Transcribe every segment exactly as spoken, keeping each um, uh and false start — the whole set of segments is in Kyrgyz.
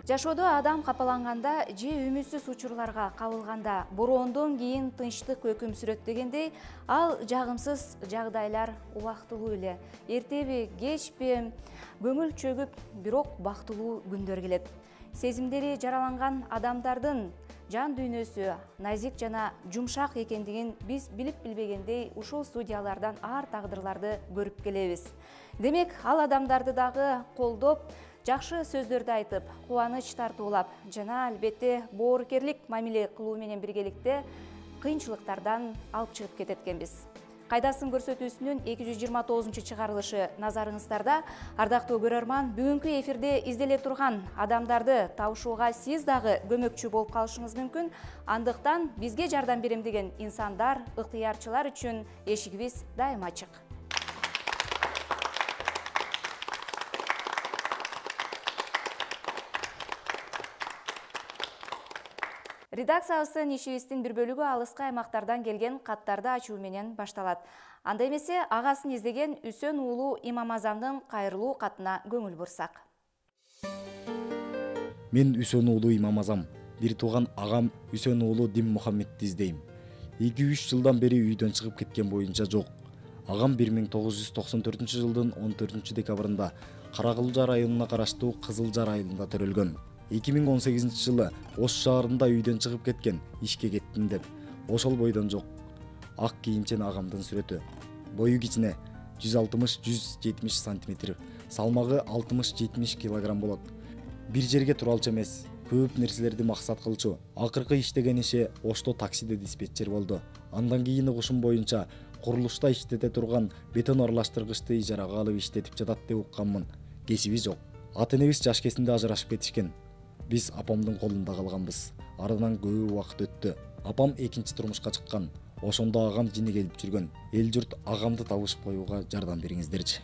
Жашоодо адам капаланганда же үмүтсүз учурларга кабылганда бороондон кийин тынчтык өкүм сүрөт дегендей, ал жагымсыз жагдайлар убактылуу эле. Эртеби, кечпи көңүл чөгүп, бирок бактылуу күндөр келет. Сезимдери жараланган адамдардын жан дүйнөсү назик жана жумшак экендигин биз билип билбегендей ушул студиялардан ар тагдырларды көрүп келебиз. Демек, ал адамдарды дагы колдоп, жакшы сөздөрдү айтып, кубаныч тартуулап жана албетте боорукерлик мамиле кылуу менен биргеликте кыйынчылыктардан алып чыгып кетет экенбиз. Кайдасын көрсөтүүсүнүн эки жүз жыйырма тогузунчу чыгарылышы назарыңыздарда. Ардактуу көрөрман, бүгүнкү эфирде изделе турган адамдарды табышууга сиз дагы көмөкчү болуп калышыңыз мүмкүн. Андыктан бизге жардам берем деген инсандар, ыктыярчылар үчүн эшигибиз дайыма ачык. Редакциябыздын ишибиздин бир бөлүгү алыскы аймактардан келген каттарды ачуу менен башталат. Анда эмесе агасын издеген Үсөн уулу Имамазамдын кайрылуу катына көңүл бурсак. Мен Үсөн уулу Имамазам, бир тууган агам Үсөн уулу Дим Мухаммедти издейм. эки үч жылдан бери үйдөн чыгып кеткен боюнча жок. Агам бир миң тогуз жүз токсон төртүнчү жылдын он төртүнчү декабрында Каракылжа районуна караштуу Кызылжар айылында төрөлгөн. эки миң он сегизинчи жылы Ош шаарында үйдөн чыгып кеткен, ишке кеттим деп. Ошол бойдон жок. Ак кийимчен агамдын сүрөтү. Бою кичине, жүз алтымыш — жүз жетимиш сантиметр, салмагы алтымыш — жетимиш килограмм болот. Бир жерге туралчу эмес, көп нерселерди максат кылчу. Акыркы иштеген иши Ошто таксиде диспетчер болду. Андан кийин угушум боюнча курулушта иштете турган бетон аралаштыргычты ижарага алып иштетип жатат деп укканмын. Кесиби жок. Ата-энебиз жаш кезинде ажырашып кетишкен. Биз апамдын колунда калганбыз. Арадан көп убакыт өттү. Апам экинчи турмушка чыккан. Ошондо агам жини келип жүргөн. Эл журт агамды табышып коюуга жардам бериңиздерчи.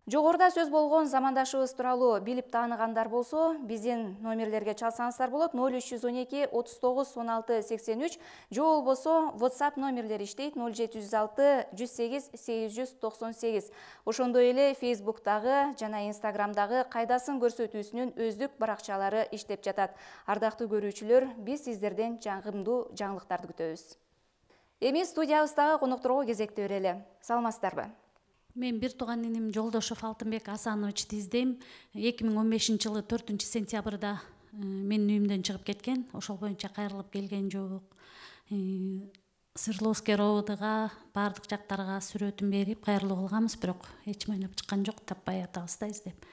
Жогоруда сөз болгон замандашыбыз тууралуу билип тааныгандар болсо, биздин номерлерге чалсаңыздар болот. ноль үч жүз он эки отуз тогуз он алты сексен үч же болбосо WhatsApp номерлери иштейт ноль жети жүз алты жүз сегиз сегиз жүз токсон сегиз. Ошондой эле Facebook'тагы жана Instagram'дагы кайдасын көрсөтүүсүнүн өздүк баракчалары иштеп жатат. Ардактуу көрүүчүлөр, биз сиздерден жагымдуу жаңылыктарды күтөбүз. Эми студиябыздагы конокторго кезекти берели. Саламатсыздарбы? Мен бир тууган иним Жолдошов Алтынбек Асановичти издейм. эки миң он бешинчи жылы төртүнчү сентябрда менин үйүмдөн чыгып кеткен. Ошол боюнча кайрылып келген жок. Свердловский роодуга, баардык жактарга сүрөтүн берип кайрылуу кылганбыз, бирок эч ким ойноп чыккан жок, таппай атабыз да издеп.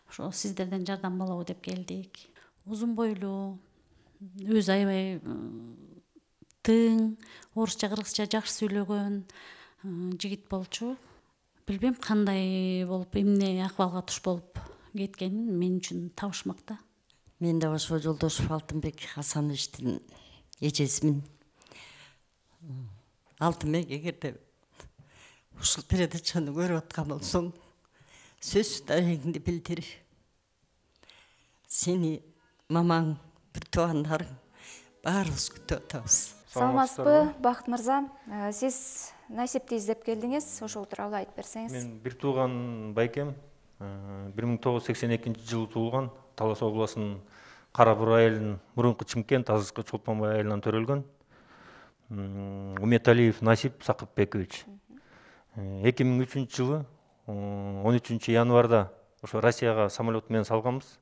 Ошо сиздерден жардам болобу деп келдик. Узун бойлуу, өзү аябай тың, орусча, кыргызча жакшы сүйлөгөн жигит болчу. Билбейм кандай болуп, эмне акыбалга туш болуп кеткенин мен үчүн табышмак да. Мен да ошо Жолдошов Алтынбек Асановичтин эжесимин. Алтынбек, эгерде ушул передачаны көрүп аткан болсоң, сөзсүз дарегиңди билдир. Сени, мамаң, бир туугандарың баарыбыз күтүп атабыз. Саламатсызбы, Бакыт мырза? Сиз Насипти издеп келдиңиз, ошол тууралуу айтып берсеңиз. Мен бир тууган байкем, бир миң тогуз жүз сексен экинчи жылы туулган, Талас областынын Кара Бура айылынын мурунку Чымкент, азыркы Чолпонбай айылынан төрөлгөн. Уметалиев Насип Сакыпбекович. эки миң үчүнчү жылы он үчүнчү январда ошо Россияга самолет менен салганбыз.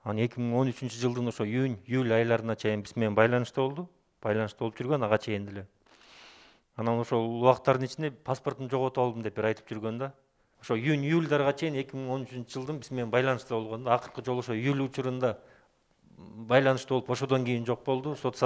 Аны эки миң он үчүнчү жылдын ошо июнь, июль айларына чейин биз менен байланышта болду. Байланышта болуп жүргөн, ага чейин деле. Анан ошол убакыттардын ичинде паспортун жоготуп алдым деп бир айтып жүргөн да. Ошо июнь, июльдарга чейин эки миң он үчүнчү жылдын биз менен байланышта болгон да. Акыркы жолу ошо июль учурунда байланышта болуп, ошодон кийин жок болду. Сот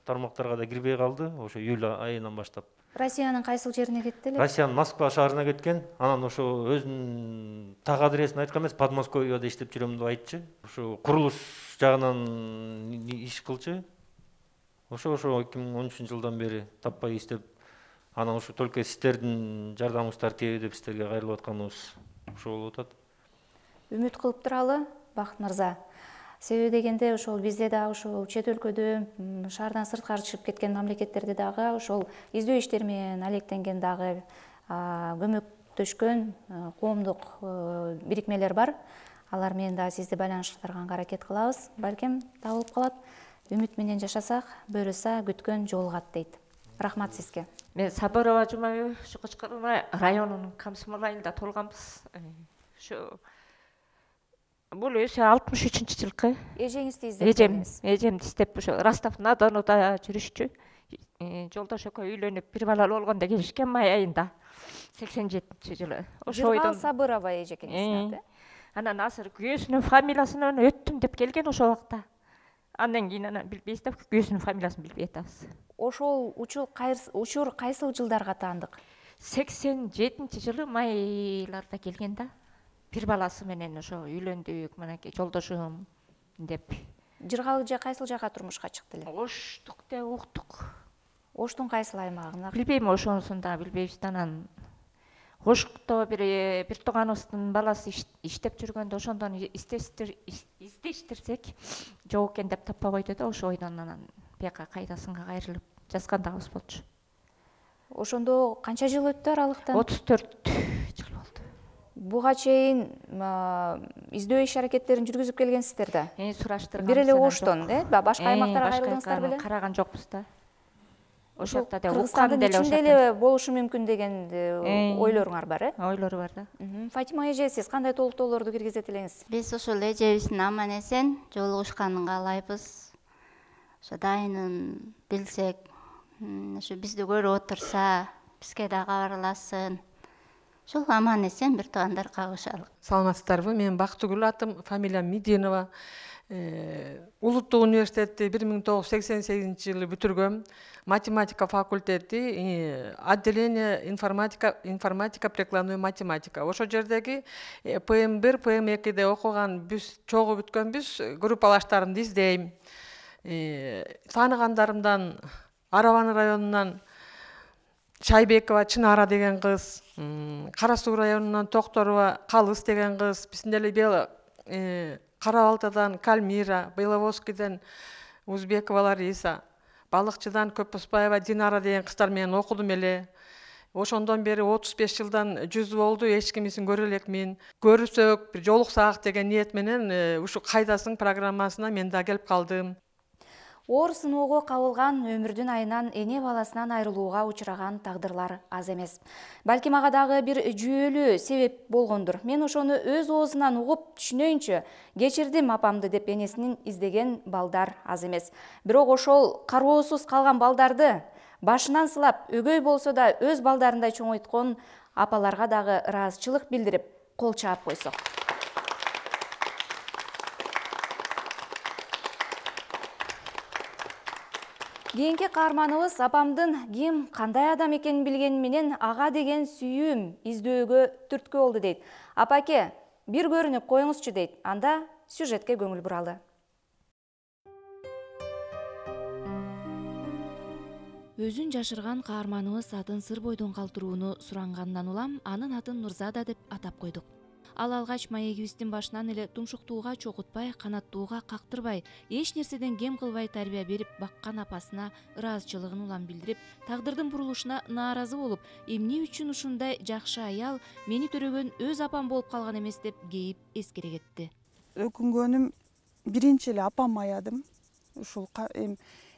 тармактарга да кирбей калды. Ошо июль айынан баштап. Россиянын кайсыл жерине кетти эле? Россиянын Москва шаарына кеткен. Анан ошо өзүнүн так адресин айткан эмес, Подмосковьеда иштеп жүрөм деп айтчы. Ошо курулуш жагынан иш кылчу. Ошо ошо эки миң он үчүнчү жылдан бери таппай иштеп, анан ошо только сиздердин жардамыңыздар тийет деп сиздерге кайрылып атканыбыз ошо болуп атат. Үмүт кылып туралы, Бакыт мырза. Себеби дегенде ошол бизде да ошол чет өлкөдө, шаардан сырткары чыгып кеткен мамлекеттерде дагы ошол издөө иштери менен алектенген дагы көмөктөшкөн коомдук бирикмелер бар. алар менен дагы сизди байланыштырганга аракет кылабыз. Балким табылып калат. Үмүт менен жашасак, буюрса күткөн жолугат дейт. Рахмат сизге. Мен Сабырова Жумабек, ушу Кочкор районунун Комсомол айылында туулганбыз. Ушу бул өзү алтымыш үчүнчү жылкы. Эжеңизди издеп Эжем, келдиңиз. эжемди издеп ушу Ростов-на-Донуда жүрүшчү. Жолдош экөө үйлөнүп, бир балалуу болгондо келишкен май айында. сексен жетинчи жылы. Ошо Жыргал ойдон Сабырова эжекеңиздин аты. анан азыр күйөөсүнүн фамилиясынан өттүм деп келген ошол убакта. Андан кийин анан билбейбиз да, күйөөсүнүн фамилиясын билбей атабыз. Ошол учур учур кайсыл жылдарга таандык? сексен жетинчи жылы майларда келген да. Бир баласы менен ошо үйлөндүк, мынакей жолдошум деп. Жыргал эже кайсыл жака турмушка чыкты эле? Оштук деп уктук. Оштун кайсыл аймагына? Билбейм, ошонусун да билбейбиз да. Анан Ошто бир бир тууганыбыздын баласы иштеп жүргөндө ошондон издештирсек жок экен деп таппай койду да, ошо ойдон анан бияка кайдасынга кайрылып жазгандагыбыз болчу. Ошондо канча жыл өттү аралыктан? отуз төрт жыл болду. Буга чейин издөө иш аракеттерин жүргүзүп келгенсиздер да? Э, сураштырган. Бир эле Оштон, э? Башка аймактарга кайрылдыңыздар беле? Караган жокпуз да. Ошол жакта да Кыргызстандын ичинде эле болушу мүмкүн деген ойлоруңар бар, э? Ойлору бар да. Фатима эже, сиз кандай толуктоолорду киргизет элеңиз? Биз ошол эжебиздин аман эсен жолугушканын каалайбыз. Ошо дайынын билсек, ошо бизди көрүп отурса, бизге да кабарласын. Ошол аман эсен бир туугандар кагышалык. Саламатсыздарбы? Мен Бактыгүл атым, фамилиям Мединова. Улуттук университетти бир миң тогуз жүз сексен сегизинчи жылы бүтүргөм. Математика факультети, отделение информатика, информатика прикладной математика. Ошо жердеги П М бир, П М экиде окуган биз чогуу бүткөнбүз, группалаштарымды издейм. Тааныгандарымдан Араван районунан Шайбекова Чынара деген кыз, Кара Суу районунан Токторова Калыс деген кыз, биздин эле бел Кара Балтадан Кальмира, Беловодскийден Узбекова Лариса, Балыкчыдан Көпөспаева Динара деген кыздар менен окудум эле. Ошондон бери отуз беш жылдан жүз болду, эч кимисин көрө элекмин. Көрүсөк, бир жолуксак деген ниет менен ушу кайдасың программасына мен да келип калдым. Оор сыноого кабылган өмүрдүн айынан эне баласынан айрылууга учураган тагдырлар аз эмес. Балким ага дагы бир жүйөлүү себеп болгондур. Мен ошону өз оозунан угуп түшүнөйүнчү, кечирдим апамды деп энесинин издеген балдар аз эмес. Бирок ошол кароосуз калган балдарды башынан сылап, өгөй болсо да өз балдарындай чоңойткон апаларга дагы ыраазычылык билдирип, кол чаап койсок. Кийинки каарманыбыз апамдын ким, кандай адам экенин билгени менен ага деген сүйүүм издөөгө түрткү болду дейт. Апаке, бир көрүнүп коюңузчу дейт. Анда сюжетке көңүл буралы. Өзүн жашырган каарманыбыз атын сыр бойдон калтырууну сурангандан улам анын атын Нурзада деп атап койдук. Ал алгач маегибиздин башынан эле тумшуктууга чокутпай, канаттууга кактырбай, эч нерседен кем кылбай тарбия берип баккан апасына ыраазычылыгын улам билдирип, тагдырдын бурулушуна нааразы болуп, эмне үчүн ушундай жакшы аял мени төрөгөн өз апам болуп калган эмес деп кейип эскере кетти. Өкүнгөнүм биринчи эле апам аядым. Ушул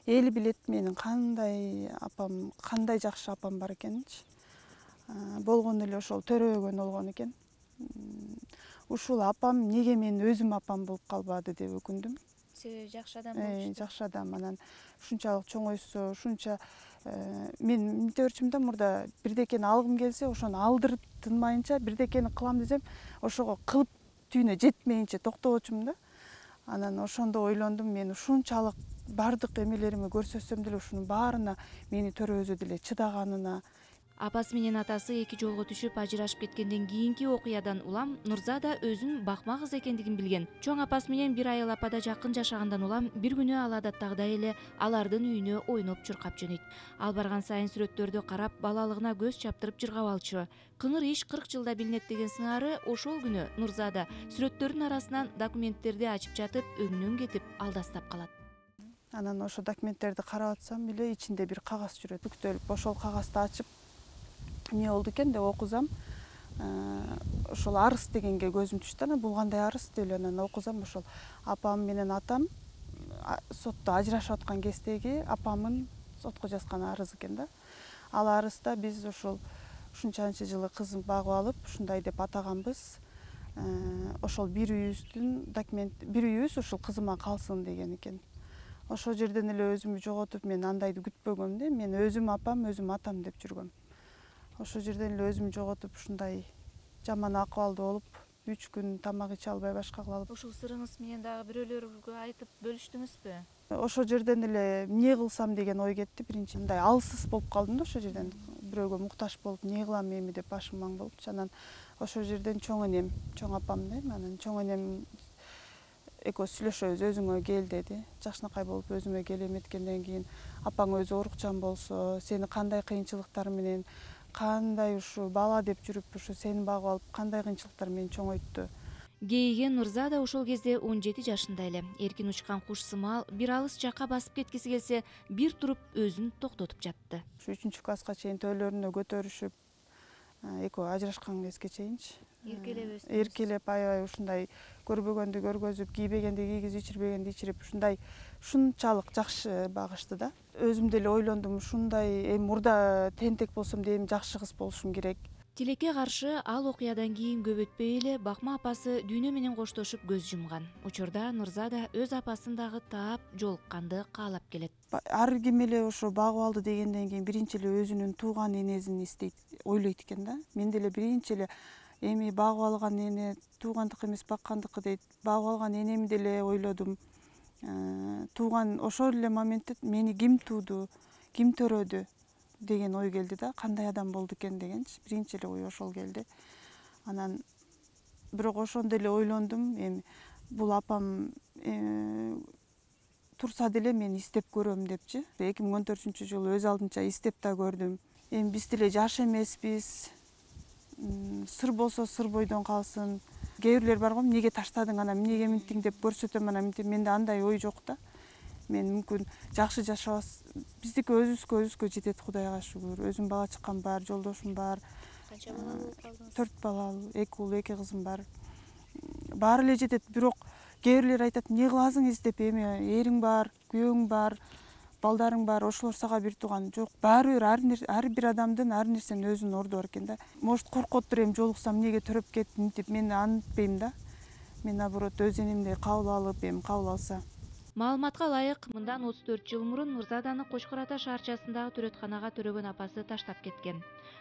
эли билет менин кандай апам, кандай жакшы апам бар экенинчи. Болгону эле ошол төрөгөн болгон экен. Ушул апам неге мен өзүм апам болуп калбады деп өкүндүм. Себеби жакшы адам болчу. Жакшы адам, анан ушунчалык чоңойсо, ушунча мен эмне өрчүм да мурда бирдекени алгым келсе, ошону алдырып тынмайынча бирдекени кылам десем, ошого кылып түйүнө жетмейинче токтогочумун да. Анан ошондо ойлондум, мен ушунчалык бардык эмелериме көрсөтсөм деле ушунун баарына мени төрөзө деле чыдаганына. Апасы менен атасы эки жолго түшүп ажырашып кеткенден кийинки окуядан улам Нурзада өзүн бакма кыз экендигин билген. Чоң апасы менен бир айыл апада жакын жашагандан улам бир күнү ал адаттагыдай эле алардын үйүнө ойноп чуркап жөнөйт. Ал барган сайын сүрөттөрдү карап, балалыгына көз чаптырып жыргап алчу. Кыңыр иш кырк жылда билинет деген сыңары ошол күнү Нурзада сүрөттөрдүн арасынан документтерди ачып жатып, өңүнөн кетип алдастап калат. Анан ошо документтерди карап атсам эле ичинде бир кагаз жүрөт. Бүктөлүп ошол кагазды ачып эмне болду экен деп окузам. ошол арыз дегенге көзүм түштү. Анан бул кандай арыз деп эле анан окусам, ошол апам менен атам сотто ажырашып аткан кездеги апамын сотко жазган арыз экен да. Ал арызда биз ошол ушунчанчы жылы кызым багып алып, ушундай деп атаганбыз. Ошол бир үйүбүздүн документ, бир үйүбүз ушул кызыма калсын деген экен. Ошол жерден эле өзүмдү жоготуп, мен андайды күтпөгөм да. Мен өзүм апам, өзүм атам деп жүргөм. Ошол жерден эле өзүмдү жоготуп, ушундай жаман акыбалда болуп, үч күн тамак иче албай башка кылып. Ушул сырыңыз менен дагы бирөөлөргө айтып бөлүштүңүзбү? Ошол жерден эле эмне кылсам деген ой кетти. Биринчи мындай алсыз болуп калдым да, ошол жерден бирөөгө муктаж болуп, эмне кылам эми деп башым маң болуп. Анан ошол жерден чоң энем, чоң апам дейм, анан чоң энем экөөбүз сүйлөшөбүз, өзүңө кел деди. Жакшынакай болуп өзүмө кел эметкенден кийин апаң өзү оорукчан болсо, сени кандай кыйынчылыктар менен, кандай ушу бала деп жүрүп ушу сени багып алып, кандай кыйынчылыктар менен чоңойтту. Кейиген Нурза да ошол кезде он жети жашында эле. Эркин учкан куш сымал бир алыс жакка басып кеткиси келсе, бир туруп өзүн токтотуп жатты. Ушу үчүнчү класска чейин төөлөрүнө көтөрүшүп, экөө ажырашкан кезге чейинчи Эркелеп өстүңүз. Эркелеп аябай ушундай көрбөгөндү көргөзүп, кийбегенди кийгизип, ичирбегенди ичирип, ушундай ушунчалык жакшы багышты да. Өзүм деле ойлондум, ушундай эми мурда тентек болсом да эми жакшы кыз болушум керек. Тилекке каршы ал окуядан кийин көп өтпөй эле Бакма апасы дүйнө менен коштошуп көз жумган. Учурда Нурза да өз апасын дагы таап жолукканды каалап келет. Ар ким эле ошо багып алды дегенден кийин биринчи эле өзүнүн тууган энесин эстейт, ойлойт экен да. Мен деле биринчи эле эми багып алган эне туугандыкы эмес баккандыкы дейт. Багып алган энемди деле ойлодум. Тууган ошол эле моментте мени ким тууду, ким төрөдү деген ой келди да. Кандай адам болду экен дегенчи. Биринчи эле ой ошол келди. Анан бирок ошондо эле ойлондум, эми бул апам турса деле мен издеп көрөм депчи. эки миң он төртүнчү жылы өз алдынча издеп да көрдүм. Эми биз деле жаш эмеспиз. Сыр болсо сыр бойдон калсын. Кээ бирлер бар го, эмнеге таштадың, анан эмнеге минтиң деп көрсөтөм, анан минтип. Менде андай ой жок да. Мен мүмкүн жакшы жашабас. Биздики өзүбүзгө өзүбүзгө жетет, Кудайга шүгүр. Өзүм бала чыккан бар, жолдошум бар. Канча бала болуп калдыңыз? төрт балалуу, эки уул, эки кызым бар. Баары эле жетет, бирок кээ бирлер айтат, эмне кыласың издеп, эми эриң бар, күйөөң бар, балдарың бар, ошолор сага бир тууган. Жок, баары бир ар бир адамдын ар нерсенин өзүнүн орду бар экен да. Может коркоттур, эми жолуксам эмнеге төрөп кетип, мынтип, мен антпейм да. Мен наоборот өз энемдей кабыл алып, эми кабыл алса. Маалыматка ылайык, мындан отуз төрт жыл мурун Нурзаданы Кочкор Ата шаарчасындагы төрөтканага төрөгөн апасы таштап кеткен.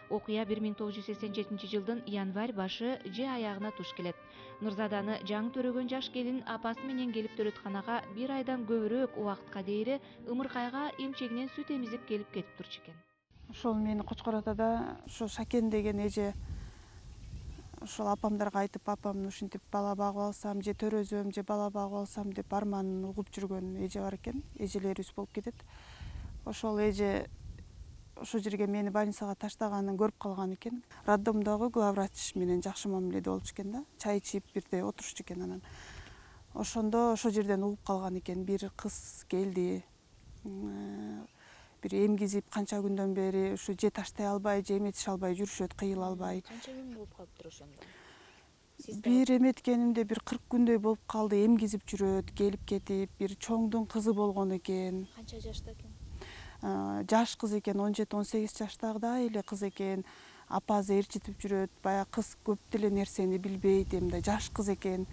Окуя бир миң тогуз жүз сексен жетинчи жылдын январь башы же аягына туш келет. Нурзаданы жаңы төрөгөн жаш келин апасы менен келип төрөтканага бир айдан көбүрөөк убакытка дейри ымыркайга эмчегинен сүт эмизип келип кетип турчу экен. Ошол мени Кочкор Атада ошо Шакен деген эже ошол апамдарга айтып, апамды ушинтип бала багып алсам, же төрөзөм, же бала багып алсам деп арманын угуп жүргөн эже бар экен. Эжелерибиз болуп кетет. Ошол эже ошол жерге мени больницага таштаганын көрүп калган экен. Роддомдогу главврач менен жакшы мамиледе болчу экен да. Чай ичип бирде отурчу экен анан. Ошондо ошол жерден угуп калган экен. Бир кыз келди. Бир эмгизип канча күндөн бери ушу же таштай албай, же эметише албай жүрүшөт, кыйыла албай. Канча күн болуп калыптыр ошондо? Бир эметкенимде бир кырк күндөй болуп калды, эмгизип жүрөт, келип кетип, бир чоңдун кызы болгон экен. Канча жашта экен? Жаш кыз экен, он жети он сегиз жаштагыдай эле кыз экен. Апасы ээрчитип жүрөт, баягы кыз көп деле нерсени билбейт, эмне жаш кыз экен.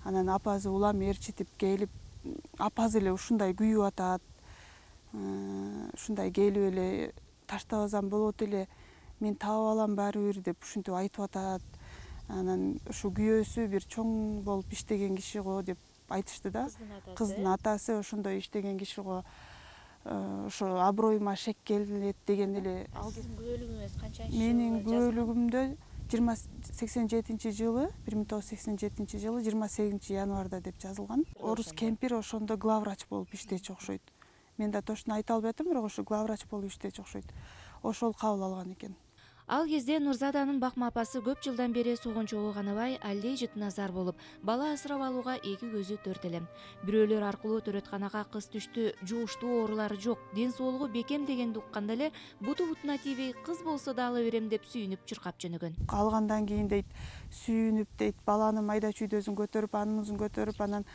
Анан апасы улам ээрчитип келип, апасы эле ушундай күйүп атат. Ушундай келип эле таштабасам болот эле, мен таап алам баары бир деп ушинтип айтып атат. Анан ушу күйөөсү бир чоң болуп иштеген киши го деп айтышты да. Кыздын атасы ошондой иштеген киши го. Ошо аброюма шек келет деген эле. Ал сиздин күбөлүгүңүз канчанчы? Менин күбөлүгүмдө жыйырма сексен жетинчи жылы, бир миң тогуз жүз сексен жетинчи жылы жыйырма сегизинчи январда деп жазылган. Орус кемпир ошондо главврач болуп иштечү окшойт. Мен да точно айта албай атам, бирок ошо главврач болуп иштечү окшойт. Ошол кабыл алган экен. Ал кезде Нурзаданын бакма апасы көп жылдан бери согончого канабай, Алдей Жытназар болуп, бала асырап алууга эки көзү төрт эле. Бирөөлөр аркылуу төрөтканага кыз түштү, жугуштуу оорулары жок, ден соолугу бекем дегенди укканда эле буту бутуна тийбей, кыз болсо да ала берем деп сүйүнүп чуркап жөнөгөн. Алгандан кийин дейт, сүйүнүп дейт, баланы майда чүйдөсүн көтөрүп, анын музун көтөрүп, анан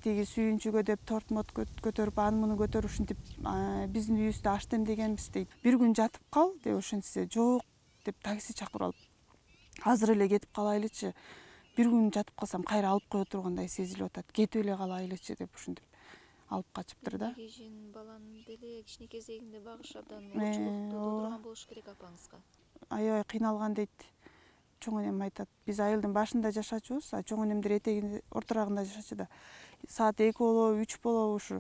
тиги сүйүнчүгө деп торт мот көтөрүп, анын муну көтөрүп ушинтип биздин үйүбүздө аш демдегенбиз дейт. Бир күн жатып кал деп ошентсе, жок деп такси чакырып алып, азыр эле кетип калайлычы, бир күн жатып калсам кайра алып кое тургандай сезилип атат, кетип эле калайлычы деп ушинтип алып качыптыр да. Кишин баланын деле кичине кезегинде багыш абдан оочулукту туудурган болуш керек апаңызга. Аябай кыйналган дейт. Чоң энем айтат, биз айылдын башында жашачубуз, а чоң энемдер этегинде ортурагында жашачу да. Саат эки болобу, үч болобу ушу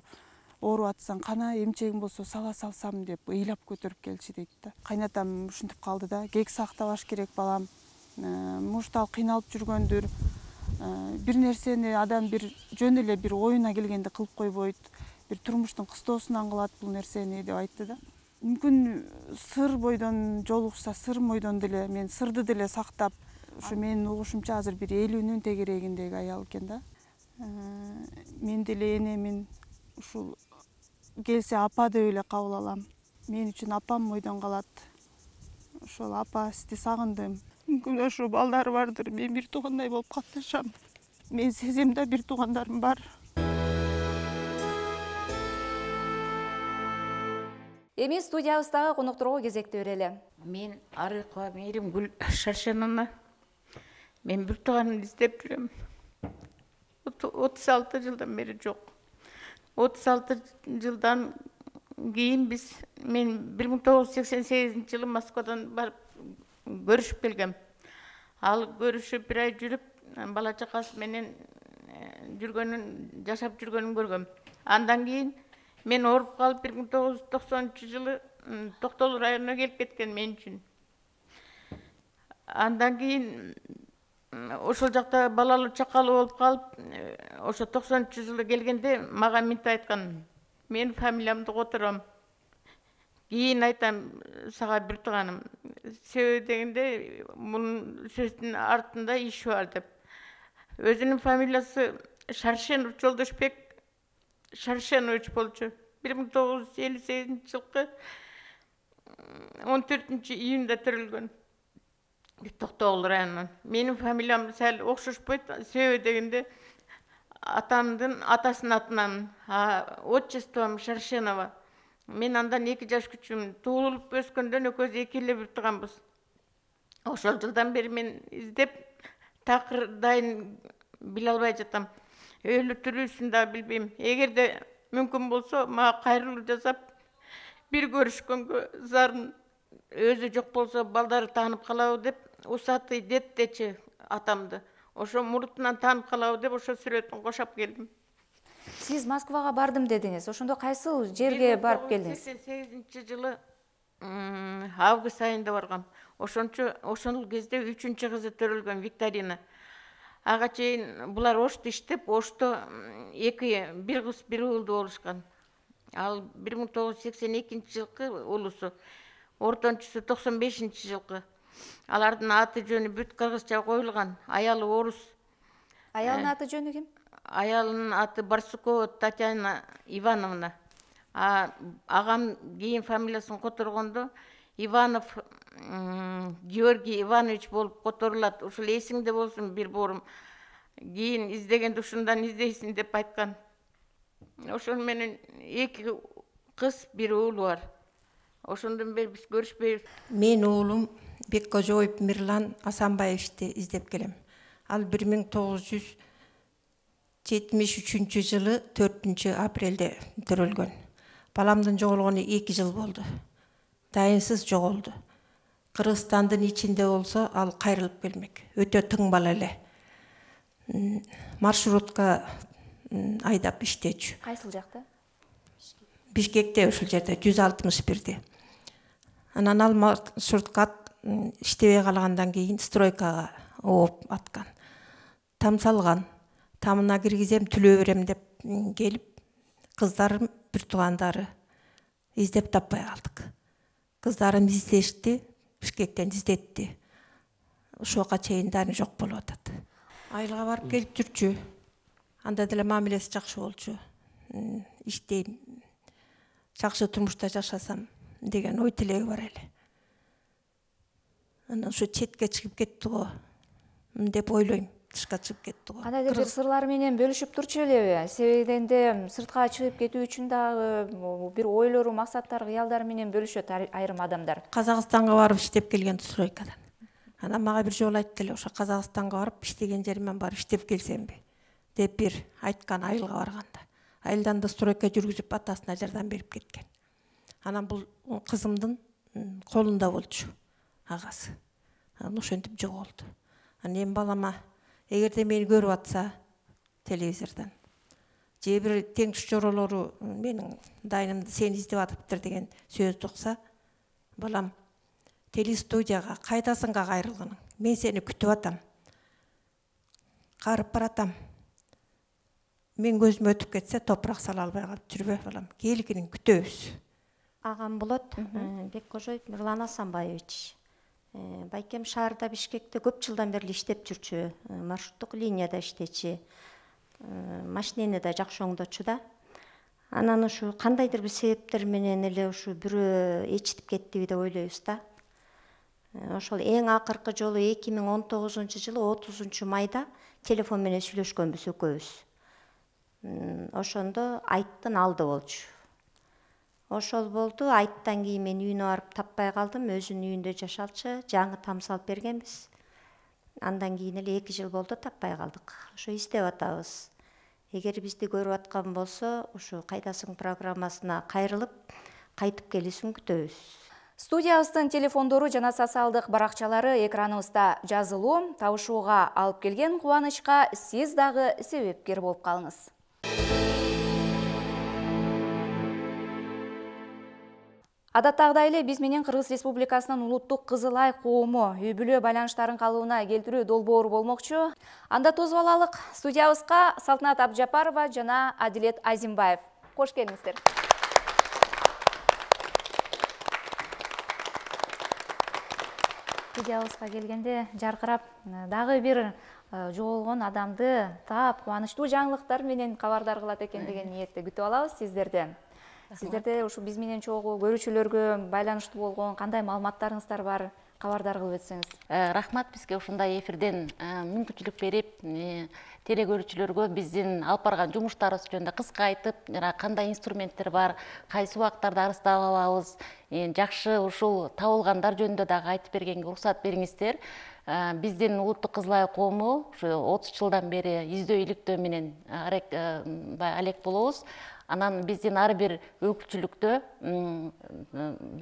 ооруп атсаң, кана эмчегим болсо сала салсам деп ыйлап көтөрүп келчү дейт да. Кайнатам ушинтип калды да, кек сактабаш керек балам. Может ал кыйналып жүргөндүр. Бир нерсени адам бир жөн эле бир оюна келгенде кылып койбойт. Бир турмуштун кыстоосунан кылат бул нерсени деп айтты да. Мүмкүн сыр бойдон жолугушса, сыр бойдон деле мен сырды деле сактап, ушу менин угушумча азыр бир элүүнүн тегерегиндеги аял экен да. Мен деле энемин ушул келсе апа деп эле кабыл алам. Мен үчүн апам бойдон калат. Ошол апа сизди сагындым. Мүмкүн ошо балдары бардыр, мен бир туугандай болуп катташам. Мен сезем да бир туугандарым бар. Эми студиябыздагы конокторго кезекти берели. Мен Арыкова Мейримгүл Шаршенова. Мен бир тууганымды издеп жүрөм. отуз алты жылдан бери жок. отуз алты жылдан кийин биз мен бир миң тогуз жүз сексен сегизинчи жылы Москвадан барып көрүшүп келгем. Ал көрүшүп бир ай жүрүп, бала чакасы менен жүргөнүн, жашап жүргөнүн көргөм. Андан кийин мен ооруп калып бир миң тогуз жүз токсонунчу жылы Токтол районуна келип кеткен мен үчүн. Андан кийин ошол жакта балалуу чакалуу болуп калып, ошо токсонунчу жылы келгенде мага мынтип айткан: "Мен фамилиямды котором. Кийин айтам сага бир тууганым. Себеби дегенде мунун сөздүн артында иш бар" деп. Өзүнүн фамилиясы Шаршенов Жолдошбек Шаршенович болчу. бир миң тогуз жүз элүү сегизинчи жылкы он төртүнчү июнда төрөлгөн. Токтогул районунан. Менин фамилиям сәл окшошпойт, себеби дегенде атамдын атасынын атынан, отчеством Шаршенова. Мен андан эки жаш күчүмүн. Туулуп өскөндөн экөөбүз эки эле бир тууганбыз. Ошол жылдан бери мен издеп такыр дайын биле албай жатам. Өлү тирүүсүн да билбейм. Эгерде мүмкүн болсо, мага кайрылуу жасап, бир көрүшкөнгө зарын, өзү жок болсо балдары таанып калабы деп, Усатый дед дечи атамды. Ошо мурутунан таанып калабы деп ошо сүрөтүн кошоп келдим. Сиз Москвага бардым дедиңиз. Ошондо кайсыл жерге барып келдиңиз? сексен сегизинчи жылы август айында баргам. Ошончо ошол кезде үчүнчү кызы төрөлгөн, Викторина. Ага чейин булар Ошто иштеп, Ошто эки бир кыз бир уулду болушкан. Ал бир миң тогуз жүз сексен экинчи жылкы улусу, ортончусу токсон бешинчи жылкы. Алардын аты жөнү бүт кыргызча коюлган. Аялы орус. Аялдын аты жөнү ким? Аялынын аты Барсукова Татьяна Ивановна. А агам кийин фамилиясын которгондо Иванов Георгий Иванович болуп которулат. Ушул эсиңде болсун бир борум. Кийин издегенде ушундан издейсиң деп айткан. Ошол менен эки кыз, бир уул бар. Ошондон бери биз көрүшпөйбүз. Мен уулум Беккожоев Мирлан Асанбаевичти издеп келем. Ал бир миң тогуз жүз жетимиш үчүнчү жылы төртүнчү апрелде төрөлгөн. Баламдын жоголгону эки жыл болду. Дайынсыз жоголду. Кыргызстандын ичинде болсо ал кайрылып келмек. Өтө тың бала эле. Маршрутка айдап иштечү. Кайсыл жакта? Бишкекте, ушул жерде жүз алтымыш бирде. Анан ал маршрутка иштебей калгандан кийин стройкага ооп аткан. Там салган. Тамына киргизем, түлөө берем деп келип, кыздарым, бир туугандары издеп таппай калдык. Кыздарым издешти, Бишкектен издетти. Ошого чейин даны жок болуп атат. Айылга барып келип жүрчү. Анда деле мамилеси жакшы болчу. Иштейм, жакшы турмушта жашасам деген ой тилеги бар эле. Анан ошо четке чыгып кетти го деп ойлойм. Тышка чыгып кетти го. Кандайдыр бир сырлар менен бөлүшүп турчу элеби? Себебинде сыртка чыгып кетүү үчүн дагы бир ойлору, максаттары, кыялдары менен бөлүшөт айрым адамдар. Казакстанга барып иштеп келген стройкадан. Анан мага бир жолу айтты эле, ошо Казакстанга барып иштеген жеримен барып иштеп келсемби деп бир айткан айылга барганда. Айылдан да стройка жүргүзүп атасына жардам берип кеткен. Анан бул кызымдын колунда болчу агасы. Анан ошентип жоголду. Анан эми балама эгерде мени көрүп атса телевизордон же бир теңиш жоролору менин дайнымды сени издеп атыптыр деген сөздү укса, балам телестудияга кайдасыңга кайрылгының? Мен сени күтүп атам. Карып баратам. Мен көзүм өтүп кетсе топурак сала албай калып жүрбө балам. Келгинин күтөбүз. Агам болот, Беккожоев Мирлан Асанбаевич. Байкем шаарда Бишкекте көп жылдан бери иштеп жүрчү, маршруттук линияда иштечи. Машинени да жакшы оңдочу да. Анан ушу кандайдыр бир себептер менен эле ушу бирөө эчитип кеттиби деп ойлойбуз да. Ошол эң акыркы жолу эки миң он тогузунчу жылы отузунчу майда телефон менен сүйлөшкөнбүз экөөбүз. Ошондо айттын алды болчу. Ошол болду. Айттан кийин мен үйүнө барып таппай калдым. Өзүнүн үйүндө жашалчу, жаңы там салып бергенбиз. Андан кийин эле эки жыл болду, таппай калдык. Ошо издеп атабыз. Эгер бизди көрүп аткан болсо, ушу кайдасың программасына кайрылып, кайтып келүүсүн күтөбүз. Студиябыздын телефондору жана социалдык баракчалары экраныбызда жазылуу. Табышууга алып келген кубанычка сиз дагы себепкер болуп калыңыз. Адаттагыдай эле биз менен Кыргыз Республикасынын улуттук Кызылай коому үй бүлө байланыштарын калыбына келтирүү долбоору болмокчу. Анда тосуп алалык. Студиябызга Салтанат Абджапарова жана Адилет Азимбаев. Кош келиңиздер. Студиябызга келгенде жаркырап дагы бир жоголгон адамды таап, кубанычтуу жаңылыктар менен кабардар кылат экен деген ниетте күтүп алабыз сиздерден. Сиздерде ушу биз менен чогуу көрүүчүлөргө байланыштуу болгон кандай маалыматтарыңыздар бар, кабардар кылып өтсөңүз. Рахмат бизге ушундай эфирден мүмкүнчүлүк берип, теле көрүүчүлөргө биздин алып барган жумуштарыбыз жөнүндө кыска айтып, жана кандай инструменттер бар, кайсы убактарда арыздар алабыз, жакшы ушул табылгандар жөнүндө дагы айтып бергенге уруксат бериңиздер. Биздин улуттук Кызылай коому ушу отуз жылдан бери издөө иликтөө менен алек болобуз. Анан биздин ар бир өкүлчүлүктө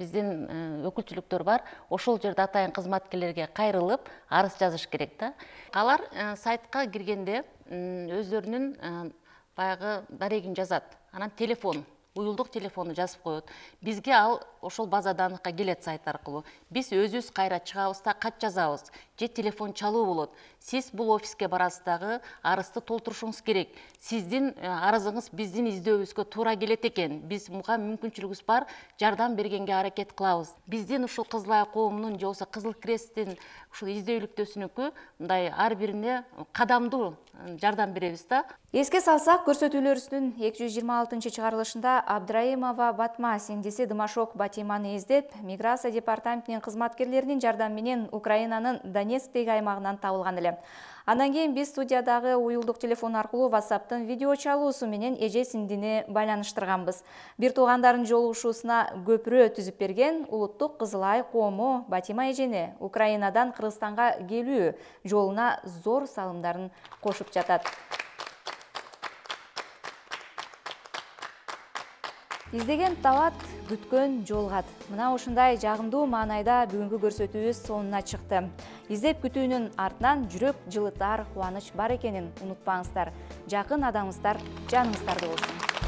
биздин өкүлчүлүктөр бар. Ошол жерде атайын кызматкерлерге кайрылып, арыз жазыш керек да. Алар сайтка киргенде өздөрүнүн баягы дарегин жазат. Анан телефон, уюлдук телефону жазып коет. Бизге ал ошол база даныкка келет сайт аркылуу. Биз өзүбүз кайра чыгабыз да кат жазабыз. Же телефон чалуу болот. Сиз бул офиске барасыз дагы арызды толтурушуңуз керек. Сиздин арызыңыз биздин издөөбүзгө туура келет экен. Биз муга мүмкүнчүлүгүбүз бар, жардам бергенге аракет кылабыз. Биздин ушул Кызылай коомунун же болбосо Кызыл Кресттин ушул издөө иликтөөсүнүкү мындай ар бирине кадамдуу жардам беребиз да. Эске салсак, көрсөтүүлөрүбүздүн эки жүз жыйырма алтынчы чыгарылышында Абдраимова Батма сиңдиси Дымашок Батиманы издеп, миграция департаментинин кызматкерлеринин жардамы менен Украинанын Донецктеги аймагынан табылган эле. Андан кийин биз студиядагы уюлдук телефон аркылуу WhatsApp'тын видео чалуусу менен эже сиңдини байланыштырганбыз. Бир туугандардын жолугушуусуна көпүрө түзүп берген улуттук Кызылай коому Батима эжени Украинадан Кыргызстанга келүү жолуна зор салымдарын кошуп жатат. Издеген табат, күткөн жолгат. Мына ушундай жагымдуу маанайда бүгүнкү көрсөтүүбүз сонуна чыкты. Издеп күтүүнүн артынан жүрөк жылытар кубаныч бар экенин унутпаңыздар. Жакын адамыңыздар жаныңыздарда болсун.